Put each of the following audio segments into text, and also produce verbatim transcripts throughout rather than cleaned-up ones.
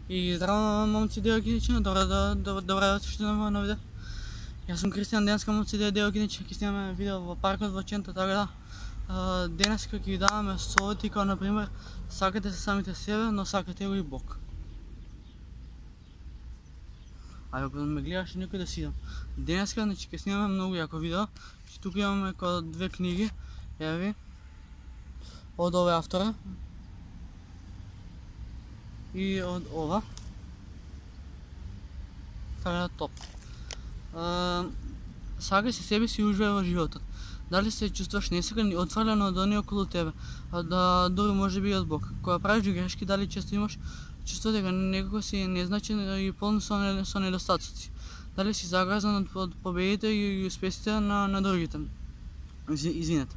И здраво, момци, девојки, добро да добро да се на ново видео. Јас сум Кристијан, денеска момци, девојки, ќе снимаме видео во паркот во Чента, така да денеска ќе ви даваме совети, како на пример сакате се самите себе, но сакате го и Бог. А ако ме гледаш некој да си идам. Денеска значи ќе снимаме многу јако видео. Тука имаме како две книги, еви, од овој автора и од ова. Така да топ. Сакај се себе си, уживај во животот. Дали се чувствуваш несигурен и отфрлен од оние околу тебе, а да дури може би и од Бог. Кога правиш грешки, дали често имаш чувство дека некако си незначен и полн со, со недостатоци. Дали си загрозен од победите и успесите на, на другите. Извинете.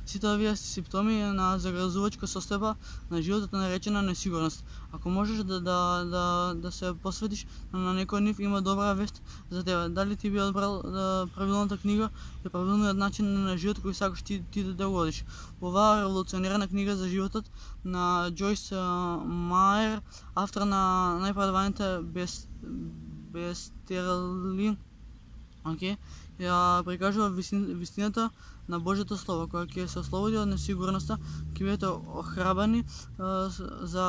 Сите овие симптоми на загрозувачка состојба на животот наречена несигурност. Ако можеш да, да, да, да се посветиш на некој нив, има добра вест за тебе. Дали ти би одбрал да, правилната книга и правилниот начин на живот кој сакаш ти, ти да го водиш. Оваа револуционерна книга за животот на Джойс Мајер, автор на најпродаваните без, бестселери, окей, ја прикажува вистината на Божјото Слово, која ќе се ослободи од несигурноста, ќе бидете охрабрени за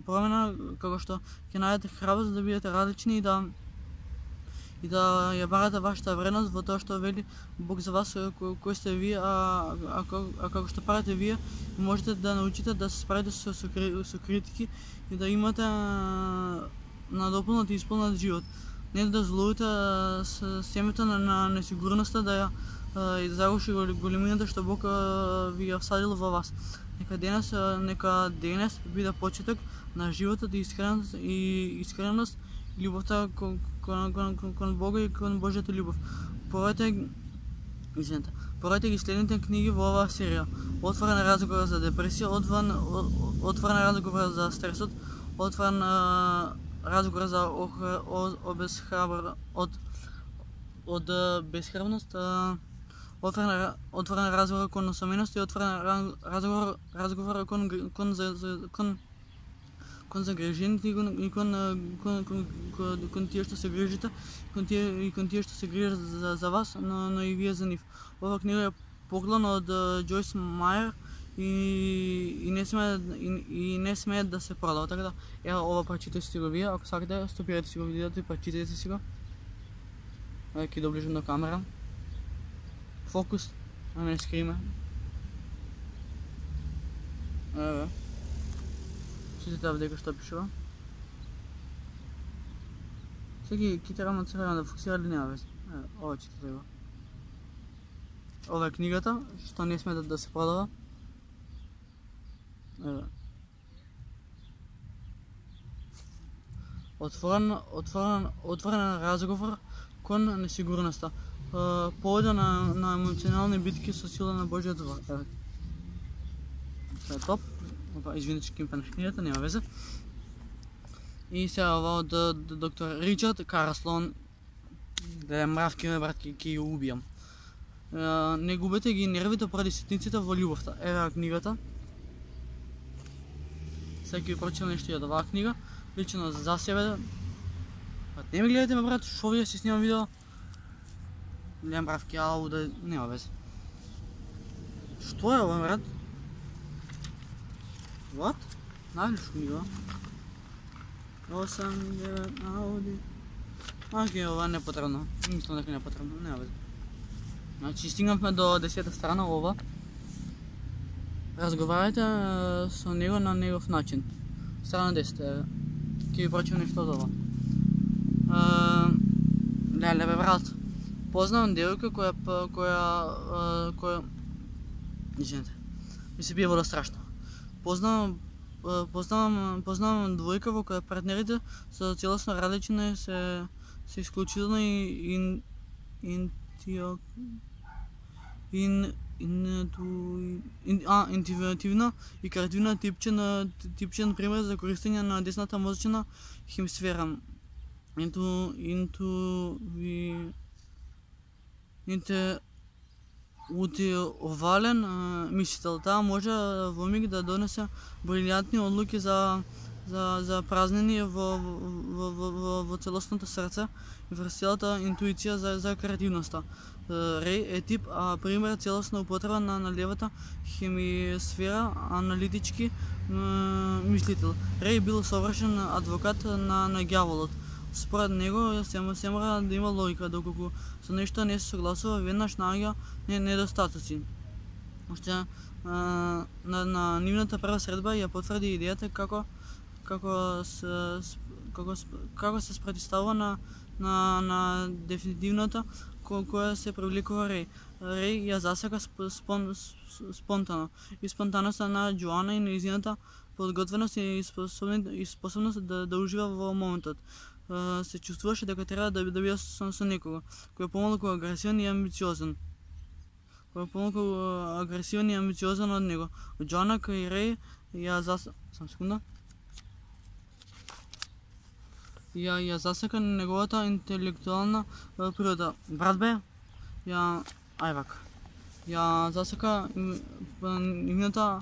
промена, како што ќе најдете храброст да бидете различни и да и да ја барате вашата вредност во тоа што вели Бог за вас, кој, кој сте вие, а, а, а како што правите вие, можете да научите да се справите со, со, со критики и да имате надополнат и исполнат живот. Не да злоите с семето на, на несигурноста да ја и да загуши големината што Бог ви ја всадил во вас. Нека денес, нека денес биде почеток на животот и искреност и искреност и љубовта кон, кон, кон, кон Бога и кон Божјата љубов. Порете извинете, порете ги следните книги во оваа серија. Отворен разговор за депресија, отворен, отворен разговор за стресот, отворен разговор за обезхрабр од од безхрабност, отворен отворен разговор кон осаменост и отворен разговор разговор кон кон за кон кон загрижените и кон кон кон кон кон тие што се грижите, кон тие и кон тие што се грижат за, за вас, но, но и вие за нив. Ова книга е поклон од Джойс Мајер и и не сме и, и не сме да се продава, така да е ова прочитајте си го вие, ако сакате стопирате си го видеото и прочитајте си го. Ајде ќе доближам до камера. Фокус, а не скриме. Еве. Читате овде што пишува. Секи китарама црвена да фокусира или нема веќе. Еве, ова читате го. Ова е книгата, што не сме да, да се продава. Еве. Отворен, отворен, отворен разговор кон несигурноста. Повода на, на емоционални битки со сила на Божјиот збор. Еве. Тоа е топ. Опа, извинете што кимпа на книгата, нема везе. И сега ова од доктор Ричард Карлсон. Да е мравки, ме брат, ќе ја убијам. Не губете ги нервите поради ситниците во љубовта. Еве книгата. Сега ќе прочитам нешто и од оваа книга. Лично за себе. Не ми гледате ме брат, шо вие си снимам видео. Гледам бравки, ау, да нема везе. Што е ова брат? What? Најлиш книга. осем, девет, ауди. Окей, ова не е потребно. Мислам дека не е потребно, нема везе. Значи, стигнавме до десета страна ова. Разговарајте со него на негов начин. Страна десет, еве. Ќе ви прочитам нешто од ова. Леле бе брат. Познавам девојка која која која извинете. Ми се бие вода страшно. Познавам познавам познавам двојка во која партнерите се целосно различни, се се исклучително и ин интио ин ин а интуитивна и креативна типчен типчен пример за користење на десната мозочна хемисфера. Инту инту ви инте утиловален мислител. Таа може во миг да донесе брилјантни одлуки за за за празнини во во во во, во целосното срце и врз целата интуиција за за креативноста. Рей е тип, а пример целосна употреба на на левата хемисфера, аналитички мислител. Рей бил совршен адвокат на на ѓаволот. Според него се се мора да има логика, доколку со нешто не се согласува, веднаш наоѓа недостатоци. Уште на на нивната прва средба ја потврди идејата како како се како како се спротивстава на на на дефинитивната ко, која се привлекува Рей. Рей ја засека спон, спонтано и спонтаноста на Џоана и нејзината подготвеност и способност, и способност да, да ужива во моментот. Се чувствуваше дека треба да, да биде со, со некого кој е помалку агресивен и амбициозен. Кој е помалку агресивен и амбициозен од него. Џоана кај Рей ја зас... Сам секунда. Ја ја засека неговата интелектуална природа. Брат бе, ја ајвак. Ја засека нивната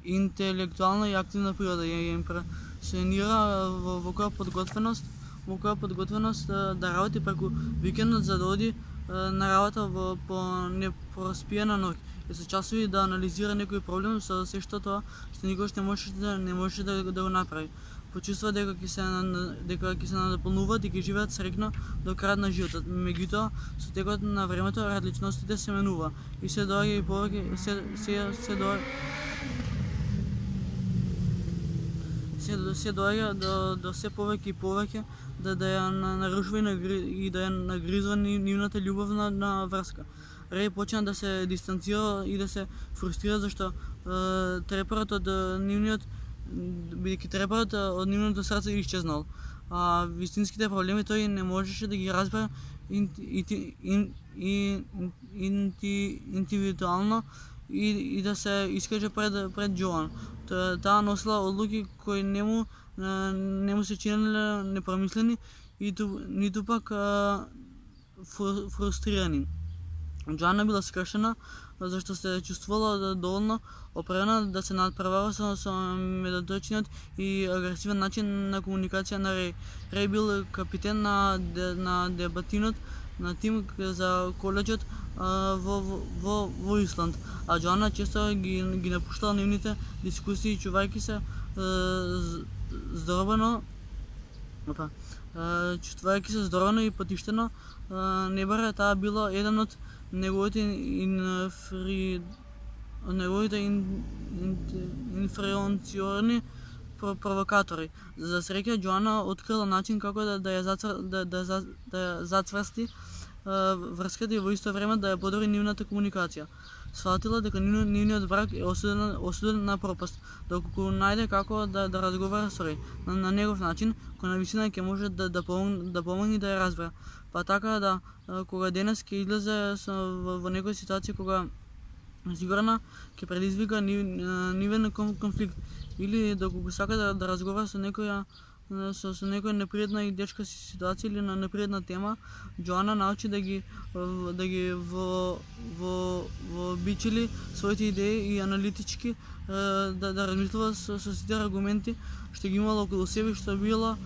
интелектуална и активна природа. Ја импресионира во, во која подготвеност, во која подготвеност да работи преку викендот за да оди на работа во по непроспиена ноќ и се часови да анализира некој проблем со се што тоа што никогаш не можеше да не можеше да, да го направи. Почувства дека ќе се дека ќе се надополнуваат и ќе живеат среќно до крајот на животот. Меѓутоа, со текот на времето различностите се менува и се доаѓа и повеќе се се се доаѓа се се доаѓа до до се повеќе и повеќе да да ја нарушува и да ја нагризува нивната љубовна на врска. Рей почна да се дистанцира и да се фрустрира зашто е, трепарот од нивниот бидејќи трепарот од нивното срце исчезнал. А вистинските проблеми тој не можеше да ги разбере индивидуално и, и да се искаже пред пред Џоан. Таа носила одлуки кои не му не му се чинеле непромислени и ту, ниту пак фрустрирани. Џоана била скршена зашто се чувствувала доволно опрена да се надпревара со, со медоточниот и агресивен начин на комуникација на Рей. Рей бил капитен на, на дебатинот на тим за коледжот во, во, во Исланд, а Џоана често ги, ги напуштала нивните дискусии, чувајќи се здоровено опа, чувствувајќи се здоровено и потиштено небаре. Таа била еден од неговите инфри неговите ин, ин, инференциорни провокатори. За среќа Џоана открила начин како да да ја зацвр, да да да ја зацврсти врската и во исто време да ја подобри нивната комуникација. Сватила дека нивниот брак е осуден, осуден на пропаст, доколку најде како да да разговара со Рей на, на негов начин, кој навистина ќе може да да помогне да помогне да ја разбере. Па така да кога денес ќе излезе со, во, во некоја ситуација кога сигурна ќе предизвика нивен конфликт или доколку сака да, да разговара со некоја со, со некоја непријатна и дечка ситуација или на непријатна тема, Џоана научи да ги да ги во во во бичили своите идеи и аналитички да да размислува со, со сите аргументи што ги имала околу себе, што била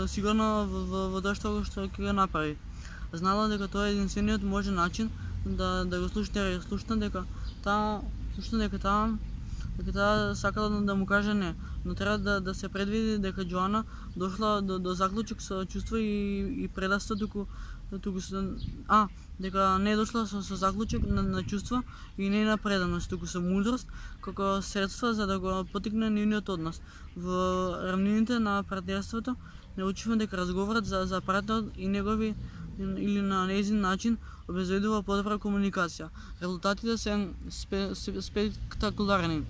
сигурно во во тоа што што ќе го направи. Знала дека тоа е единствениот можен начин да да го слушне, слушна дека таа слушна дека таа дека таа сакала да му каже не, но треба да да се предвиди дека Џоана дошла до до заклучок со чувство и и предавство туку туку а дека не е дошла со, со заклучок на, на чувство и не на преданост, туку со мудрост како средство за да го потикне нивниот однос. Во рамнините на партнерството научивме дека разговорот за за партнерот и негови или на нејзин начин обезбедува подобра комуникација. Резултатите се спе, спектакуларни.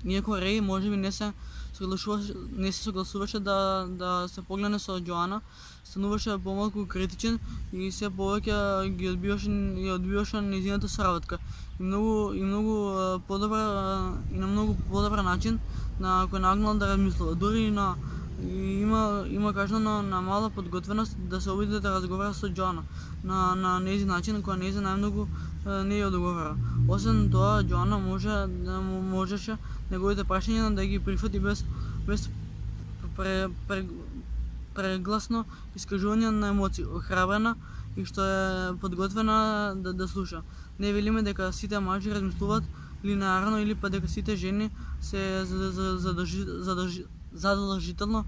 Иако Рей можеби не се согласуваше, не се согласуваше да да се погледне со Џоана, стануваше помалку критичен и се повеќе ги одбиваше и одбиваше нејзината соработка. И многу и многу подобра и на многу подобар начин на кој нагнал да размислува. Дури и на И има има кажано на, на мала подготвеност да се обиде да разговара со Џоана на на нејзин начин кој нејзин најмногу не ја одговара. Освен тоа, Џоана може да му можеше неговите прашања да ги прифати без без пре, пре, прегласно искажување на емоции, охрабрена и што е подготвена да, да слуша. Не велиме дека сите мажи размислуваат линеарно или па дека сите жени се задржи, задржи, задолжително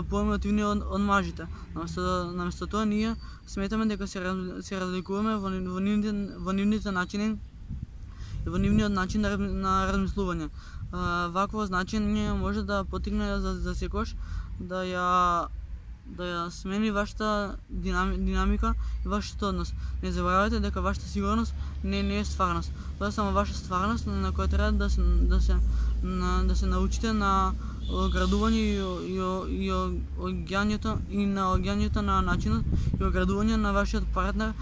поемотивни од, од мажите. Наместо, наместо тоа ние сметаме дека се, се разликуваме во, во, нивните, во нивните начини и во нивниот начин на, на размислување. Вакво значење може да потигне за, за секош да ја да ја смени вашата динами, динамика и вашиот однос. Не заборавајте дека вашата сигурност не, не е стварност. Тоа е само ваша стварност на која треба да се да се на, да се научите на оградување и и и оѓањето и на оѓањето на начинот и оградување на вашиот партнер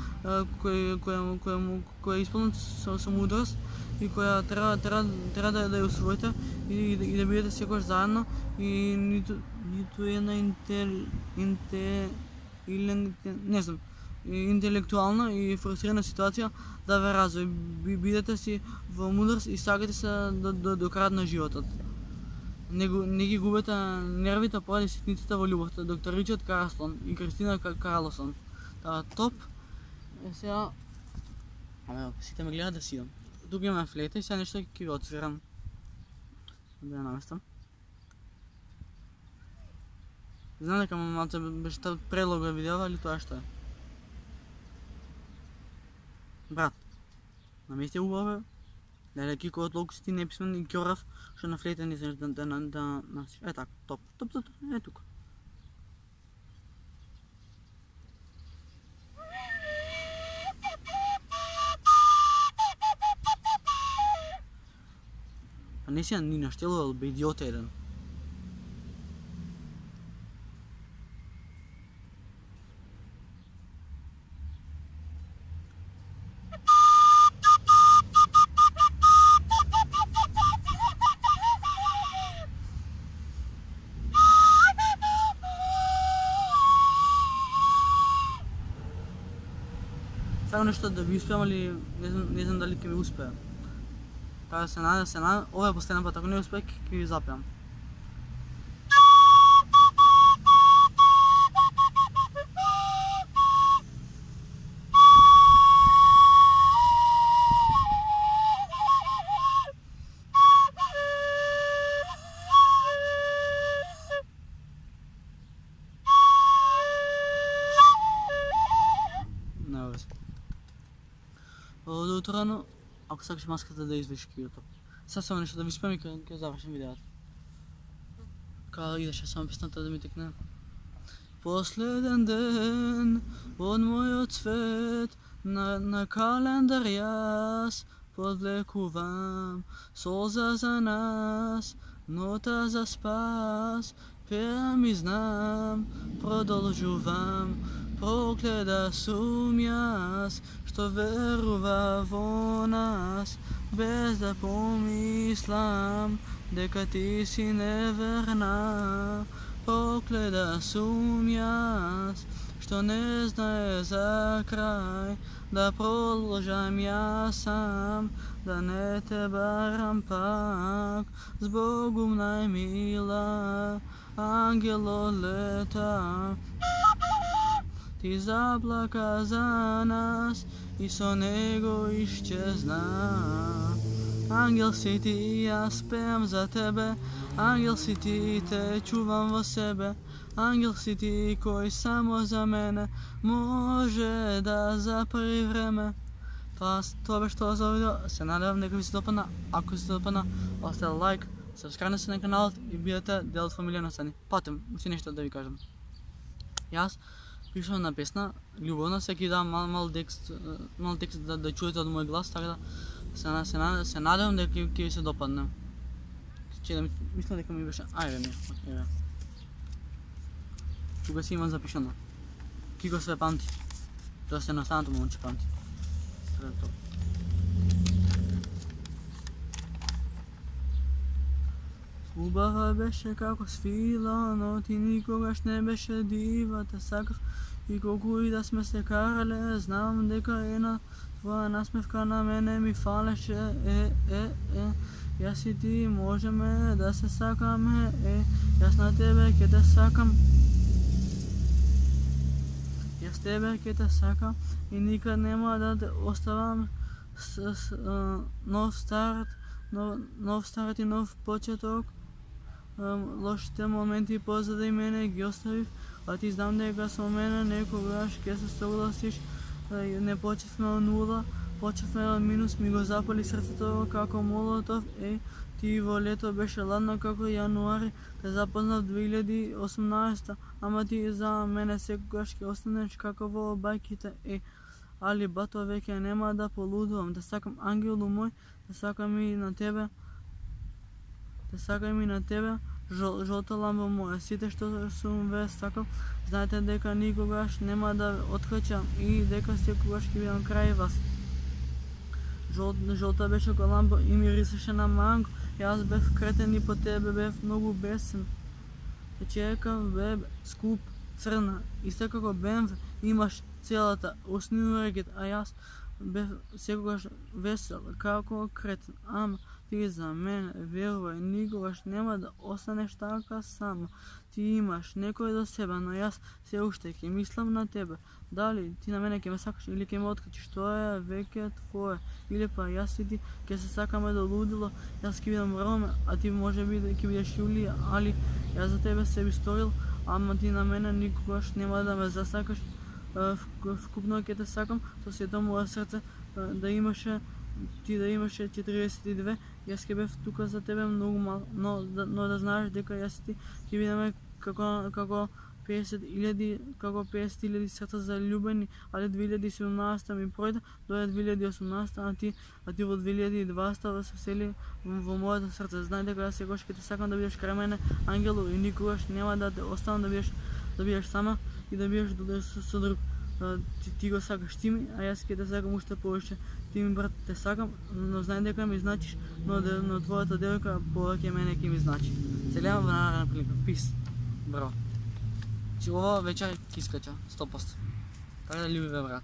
кој кој кој кој е исполнет со, со мудрост и која треба треба треба да, да ја усвоите и, и да бидете секогаш заедно и ниту ниту една интел инте или не знам интелектуална и фрустрирана ситуација да ве развои. Бидете си во мудрост и сакате се до, до, до крајот на животот. Не, не ги губете нервите поради ситниците во љубовта. Доктор Ричард Карлсон и Кристина Карлсон. Таа топ. Е сега ама сите ме гледаат да си идам. Тука имаме флейта и сега нешто ќе ви отсвирам. Да ја наместам. Знам дека малце беше предлога видео, али тоа што е? Брат, намести убаво, да кико од толку си ти неписмен и ќорав, што на флейта не знаеш да да да е така, топ, топ, топ, е тука. Па не си ни наштелувал бе идиот еден. Само нешто да ви успеам, али не знам, не знам дали ќе ми успеа. Така да се надам, се надам, ова е последен пат, ако не успеа, ќе ви запеам. Од утрано, ако сакаш маската да извиш киото. Сега само нешто да ви спем и ќе завршим видеото. Као идеше само песната да ми текне. Последен ден од мојот свет на, на календар јас подвлекувам солза за нас, нота за спас, пеам и знам, продолжувам. Проклета сум јас, што верува во нас, без да помислам дека ти си неверна. Проклета сум јас, што не знае за крај, да продолжам јас сам, да не те барам пак. Збогум најмила, ангело лета, ти заплака за нас и со него исчезна. Ангел си ти, јас пеам за тебе, ангел си ти, те чувам во себе. Ангел си ти, кој само за мене може да запри време. Тоа, тоа беше тоа за видео, се надевам дека ви се допадна. Ако ви се допадна, оставете лайк, сабскрајбнете се на каналот и бидете дел од фамилија Сани. Патем, уште нешто да ви кажам. Јас пишам на песна љубовна, секи дам мал мал текст, мал текст да, да чуете од мој глас, така да се се, се надевам дека ќе ви се допадне. Че да мислам дека ми беше, ајде не, ајде. Тука си имам запишано. Кико све памти. Тоа се настанато момче памти. Тоа тоа. Убава беше како свила, но ти никогаш не беше дива, те сакав и колку и да сме се карале, знам дека една твоја насмевка на мене ми фалеше, е, е, е. Јас и ти можеме да се сакаме, е, јас на тебе ќе те сакам. Јас тебе ќе те сакам и никад нема да те оставам. С, с, а, нов старт, нов, нов старт и нов почеток. А, лошите моменти позади мене ги оставив, а ти знам дека со мене некогаш ќе се согласиш. А, не почевме од нула, почевме од минус, ми го запали срцето како молотов. Е, ти во лето беше ладно како јануари, те запознав две илјади и осумнаесетта, ама ти за мене секогаш ќе останеш како во бајките. Е, али бато веќе нема да полудувам, те сакам ангелу мој, те сакам и на тебе, те сакам и на тебе, жол, жолта ламба моја, сите што сум ве сакал, знаете дека никогаш нема да ве откачам и дека секогаш ќе бидам крај вас. Жол, жолта беше како ламба и мирисеше на манго, јас бев кретен и по тебе бев многу бесен. Те чекав бебе, скуп, црна, исто како Бе Ем В, имаш целата осниурегет, а јас бев секогаш весел како кретен, ама ти за мене, верувај, никогаш нема да останеш така сама. Ти имаш некој до себе, но јас се уште ќе мислам на тебе. Дали ти на мене ќе ме сакаш или ќе ме откачиш, тоа е веќе твое. Или па јас и ти ќе се сакаме до лудило, јас ќе бидам Роме, а ти можеби ќе бидеш Јулија, али јас за тебе се би сторил, ама ти на мене никогаш нема да ме засакаш. Вкупно ќе те сакам со сето мое срце, да имаше ти да имаше четириесет и две, јас ќе бев тука за тебе многу мал, но, но да знаеш дека јас и ти ќе бидеме како како песет илјади, како песет илјади срца заљубени, али две илјади и седумнаесетта ми пројде, дојде две илјади и осумнаесетта, а ти а ти во две илјади и дваесетта се всели во моето срце. Знај дека јас секогаш ќе те сакам да бидеш крај мене, ангело, и никогаш нема да те оставам да бидеш да бидеш сама и да бидеш да со, со друг. Ти, ти го сакаш ти ми, а јас ќе те сакам уште повеќе. Ти ми брат те сакам, но знај дека ми значиш, но, но твојата девојка повеќе мене ќе ми значи. Се гледаме во наредна прилика. Пис. Браво. Че ова вечер ќе искача, сто поsto. Така да љуби ве брат.